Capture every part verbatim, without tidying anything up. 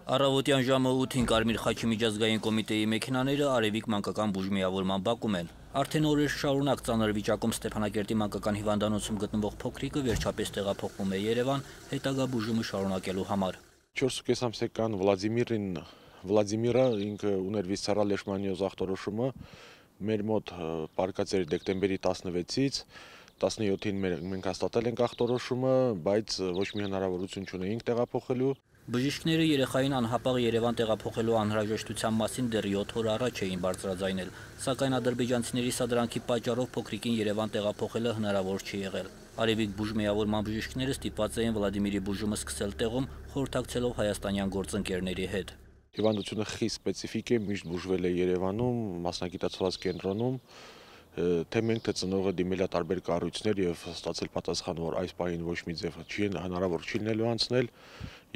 Առավոտյան ժամը ութին Կարմիր խաչի միջազգային կոմիտեի մեքենաները Արևիկ մանկական բուժմիավորման բակում են։ Արդեն օրեր շարունակ ծանր վիճակում Ստեփանակերտի մանկական հիվանդանոցում գտնվող փոքրիկը վերջապես տեղափոխվում է Երևան հետագա բուժումը շարունակելու համար։ չորս ամսական Վլադիմիրին Վլադիմիրը ինքը ուներ վիսցերալ լեշմանիոզ ախտորոշումը մեր մոտ պարկած էր դեկտեմբերի տասնվեցից տասնյոթին մենք հաստատել ենք ախտորոշումը, բայց ոչ մի հնարավորություն չունեինք տեղափոխելու։ Բժիշկները երեխային անհապաղ Երևան տեղափոխելու անհրաժեշտության մասին դեռ յոթ օր առաջ էին բարձրաձայնել, սակայն ադրբեջանցիների սադրանքի պատճառով փոքրիկին Երևան տեղափոխելը հնարավոր չի եղել։ Արևիկ բուժմիավորման բժիշկները ստիպված էին Վլադիմիրի բուժումը սկսել տեղում, խորհրդակցելով հայաստանյան գործընկերների հետ։ Հիվանդությունը խիստ սպეციფիկ է, միշտ բուժվել է Երևանում, մասնագիտացված կենտրոնում, թե մենք թե ծնողը դիմել է տարբեր կառույցներ եւ ստացել պատասխան, որ այս պահին ոչ մի ձև չի հնարավոր չի լինելու անցնել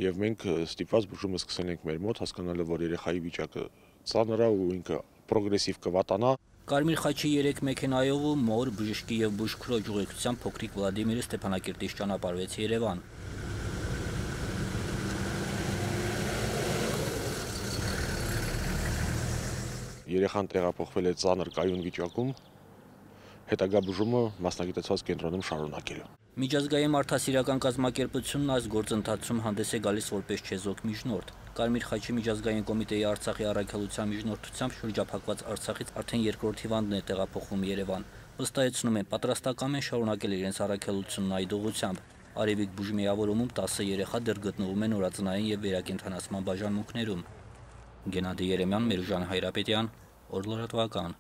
եւ մենք ստիպված բուժումը սկսել ենք մեր մոտ, հասկանալով, որ երեխայի վիճակը ծանր է ու ինքը պրոգրեսիվ կվատանա։ Կարմիր խաչի երեք մեքենայով ու մոր, բժշկի եւ բուժքրոջ ուղեկցությամբ փոքրիկ Վլադիմիրը Ստեփանակերտից ճանապարհվեց Երևան։ Երեխան տեղափոխվել է ծանր կայուն վիճակում, հետագա բուժումը մասնագիտացված կենտրոնում շարունակելու։ Միջազգային մարդասիրական կազմակերպությունն այս գործընթացում հանդես է գալիս որպես չեզոք միջնորդ։ Կարմիր խաչի միջազգային կոմիտեի Արցախի առաքելության միջնորդությամբ շրջափակված Արցախից արդեն երկրորդ հիվանդն է տեղափոխվում Երևան։ Վստահեցնում են, պատրաստական են շարունակել իրենց առաքելությունն այդ ուղղությամբ։ Արևիկ բուժմիավորումում տասը երեխա դեռ գտնվում են օրածնային եւ վերակենդանացման բաժանմունքներում։ Գենադի Երեմյան, Մերուժան Հայրապետյան, Օր լրատվական։